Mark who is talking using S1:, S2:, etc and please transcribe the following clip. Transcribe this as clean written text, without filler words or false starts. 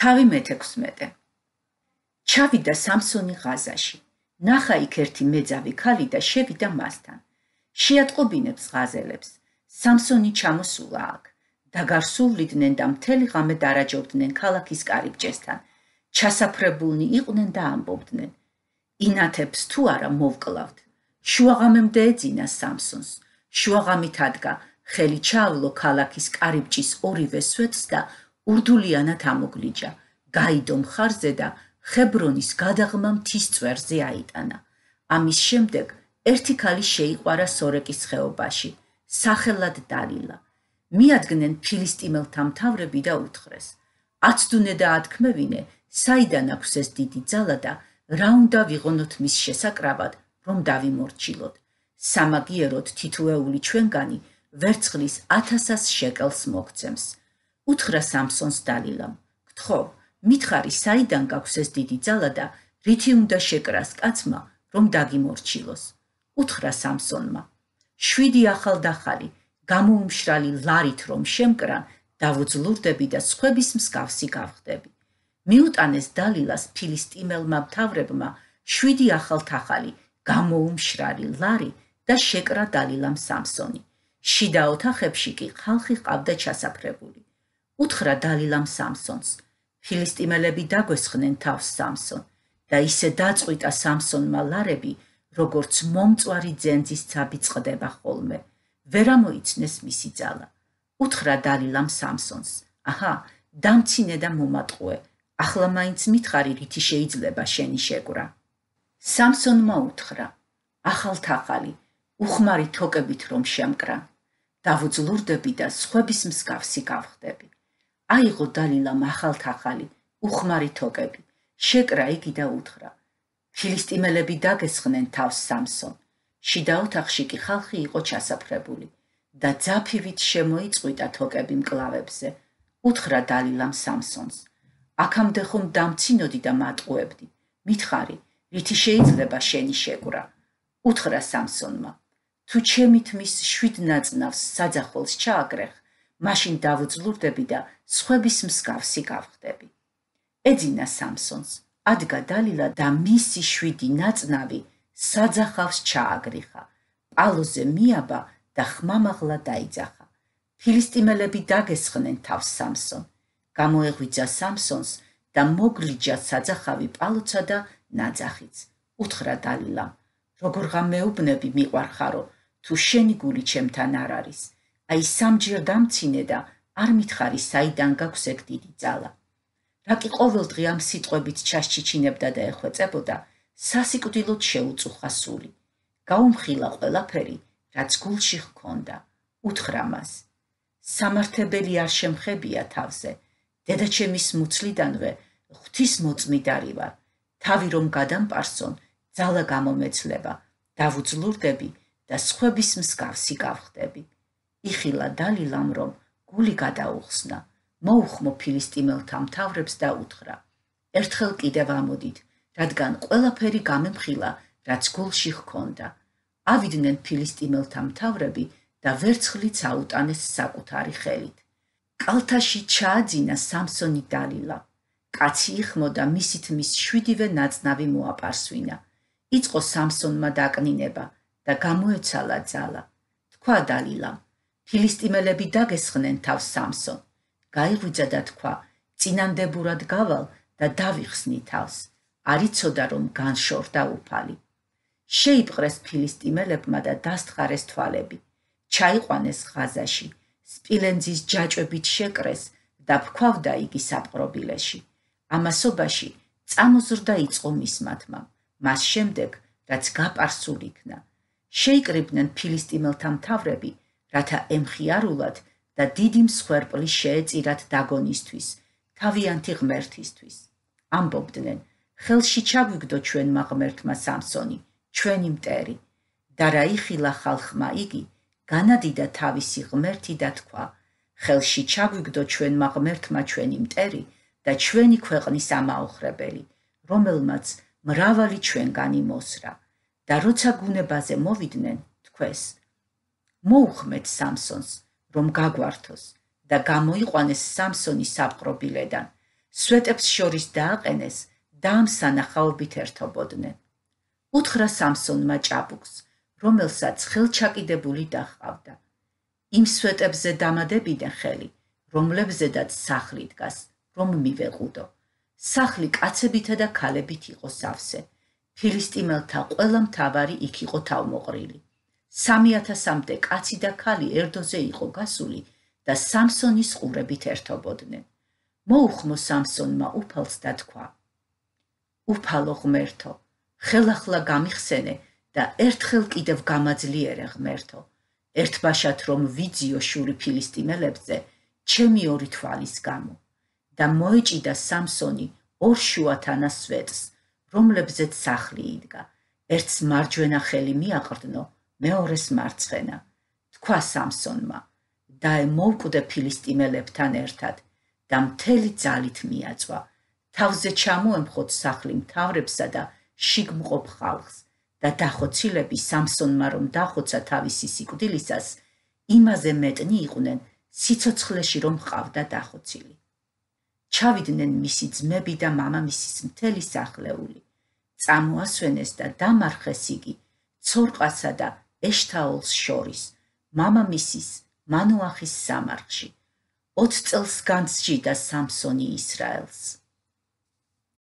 S1: თავი მე-16. ჩავიდა სამსონი ღაზაში. ნახა იქ ერთი მეძავი ქალი და შევიდა მასთან. შეატყობინებს ღაზელებს. სამსონი ჩამოსულა აქ. დაგარსუვლიდნენ და მთელი ღამე დარაჯობდნენ ქალაქის კარიბჭესთან. ჩასაფრებულნი იყვნენ და ამბობდნენ. ინათებს თუ არა მოვკლავთ. შუაღამემდე ეძინა სამსონს. შუაღამით ადგა, ხელი ჩაავლო ქალაქის კარიბჭის ორივე სვეტს და ურდულიანად ამოგლიჯა. გაიდო მხარზე და ხებრონის გადაღმა მთის წვერზე აიტანა. ამის შემდეგ ერთი ქალი შეიყვარა სორეკის ხეობაში, სახელად დალილა. მიადგნენ ფილისტიმელთა მთავრები და უთხრეს. აცდუნე და ათქმევინე, საიდან აქვს ეს დიდი ძალა და რა უნდა ვიღონოთ მის შესაკრავად, რომ დავიმორჩილოთ. სამაგიეროდ თითოეული ჩვენგანი ვერცხლის 1000 შეკელს მოგცემს. უთხრა სამსონს დალილამ. გთხოვ, მითხარი საიდან გაქვს ეს დიდი ძალა და რითი უნდა შეკრას კაცმა, რომ დაგიმორჩილოს. უთხრა სამსონმა. 7 ახალდახალი, გამოუმშრალი ლარით რომ შემკრან, დავუძლურდები და სხვების მსგავსი გავხდები. მიუტანეს დალილას ფილისტიმელმა მთავრებმა 7 ახალთახალი, გამოუმშრალი ლარი და შეკრა დალილამ სამსონი. შიდა ოთახებში კი ხალხი ყავდა ჩასაფრებული. უთხრა დალილამ სამსონს. ფილისტიმელები დაგვესხნენ თავს სამსონ და ისე დაწყვიტა სამსონმა ლარები, როგორც მომწვარი ძენძის ცაბი წყდება ხოლმე. ვერ ამოიცნეს მისი ძალა. უთხრა დალილამ სამსონს. აჰა, დამცინე და მომატყუე. ახლა მაინც მითხარი რითი შეიძლება შენი შეკვრა. სამსონმა უთხრა. ახალთახალი, უხმარი თოკებით რომ შემკრა. დავუძლურდები და სხვების მსგავსი გავხდები. აიღო დალილამ ახალთახალი, უხმარი თოკები. შეკრა იგი და უთხრა. ფილისტიმელები დაგესხნენ თავს სამსონ. შიდა ოთახში კი ხალხი იყო ჩასაფრებული და ძაფივით შემოიწყვიტა თოკები მკლავებზე. უთხრა დალილამ სამსონს. აქამდე ხომ დამცინოდი და მატყუებდი. მითხარი, რითი შეიძლება შენი შეკვრა. უთხრა სამსონმა. თუ ჩემი თმის 7 ნაწნავს საძახოლს ჩააგრეხ, მაშინ დავუძლურდები და სხვების მსგავსი გავხდები. ეძინა სამსონს. ადგა დალილა და მისი 7 ნაწნავი საძახავს ჩააგრიხა. პალოზე მიაბა და ხმამაღლა დაიძახა. ფილისტიმელები დაგესხნენ თავს სამსონ. გამოეღვიძა სამსონს და მოგლიჯა საძახავი პალოცა და ნაძახიც. უთხრა დალილამ. როგორღა მეუბნები მიყვარხარო, თუ შენი გული ჩემთან არ არის. აი სამჯერ დამცინე და არ მითხარი საიდან გაქვს ეგ დიდი ძალა. რა კი ყოველდღე ამ სიტყვებით ჩასჩიჩინებდა და ეხვეწებოდა, სასიკვდილოდ შეუწუხა სული. გაუმხილა ყველაფერი, რაც გულში ჰქონდა. უთხრა მას. სამართებელი არ შემხებია თავზე. დედაჩემის მუცლიდანვე ღვთისმოწმიდარი ვარ. თავი რომ გადამპარსონ, ძალა გამომეცლება, დავუძლურდები და სხვების მსგავსი გავხდები. იხილა დალილამ რომ გული გადაუხსნა. მოუხმო ფილისტიმელთა მთავრებს და უთხრა. ერთხელ კიდევ ამოდით, რადგან ყველაფერი გამემხილა, რაც გულში ჰქონდა. ავიდნენ ფილისტიმელთა მთავრები და ვერცხლიც აუტანეს საკუთარი ხელით. კალთაში ჩააძინა სამსონი დალილა. კაცი იხმო და მისი თმის 7 ნაწნავი მოაპარსვინა. იწყო სამსონმა დაკნინება და გამოეცალა ძალა. თქვა დალილამ. ფილისტიმელები დაგესხნენ თავს სამსონ. გაიღვიძა და თქვა, წინანდებურად გავალ და დავიხსნი თავს. არ იცოდა რომ განშორდა უფალი. შეიპყრეს ფილისტიმელებმა და დასთხარეს თვალები. ჩაიყვანეს ღაზაში, სპილენძის ჯაჭვებით შეკრეს და ფქვავდა იგი საპყრობილეში. ამასობაში წამოზრდა იწყო მისმათმა. მას შემდეგ, რაც გაპარსულ იქნა. შეიკრიბნენ ფილისტიმელთა მთავრები, რათა ემხიარულათ და დიდი მსხვერპლი შეეწირათ დაგონისთვის, თავიანთი ღმერთისთვის. ამბობდნენ, ხელში ჩაგვიგდო ჩვენმა ღმერთმა სამსონი, ჩვენი მტერი. და რა იხილა ხალხმა იგი, განადიდა თავისი ღმერთი და თქვა, ხელში ჩაგვიგდო ჩვენმა ღმერთმა ჩვენი მტერი და ჩვენი ქვეყნის ამაოხრებელი, რომელმაც მრავალი ჩვენგანი მოსრა. და როცა გუნებაზე მოვიდნენ, თქვეს. მოუხმეთ სამსონს, რომ გაგვართოს და გამოიყვანეს სამსონი საპყრობილედან. სვეტებს შორის დააყენეს და ამ სანახაობით ერთობოდნენ. უთხრა სამსონმა ჭაბუკს, რომელსაც ხელჩაკიდებული დაჰყავდა. იმ სვეტებზე დამადებიდან ხელი, რომლებზედაც სახლი დგას, რომ მივეყუდო. სახლი კაცებითა და ქალებით იყო სავსე. ფილისტიმელთა ყველა მთავარი იქ იყო თავმოყრილი. 3000-მდე კაცი და ქალი ერდოზე იყო გასული და სამსონის ყურებით ერთობოდნენ. მოუხმო სამსონმა უფალს და თქვა: უფალო ღმერთო, ხელახლა გამიხსენე და ერთხელ კიდევ გამაძლიერე ღმერთო, ერთბაშად რომ ვიძიო შური ფილისტიმელებზე ჩემი ორი თვალის გამო. და მოეჭიდა სამსონი ორ შუათანა სვეტს, რომლებზეც სახლი იდგა, ერთს მარჯვენა ხელი მიაყრდნო, მეორეს მარცხენა. თქვა სამსონმა: დაე მოვკვდე ფილისტიმელებთან ერთად და მთელი ძალით მიაწვა. თავზე ჩამოემხოთ სახლი მთავრებსა და შიგმყოფ ხალხს და დახოცილები სამსონმა რომ დახოცა თავისი სიკვდილისას, იმაზე მეტნი იყვნენ სიცოცხლეში რომ ჰყავდა დახოცილი. ჩავიდნენ მისი ძმები და მამამისის მთელი სახლეული. წამოასვენეს და დამარხეს იგი ცორყასა და ეშთაოლს შორის, მამამისის მანოახის სამარხში. 20 წელს განსჯიდა სამსონი ისრაელს.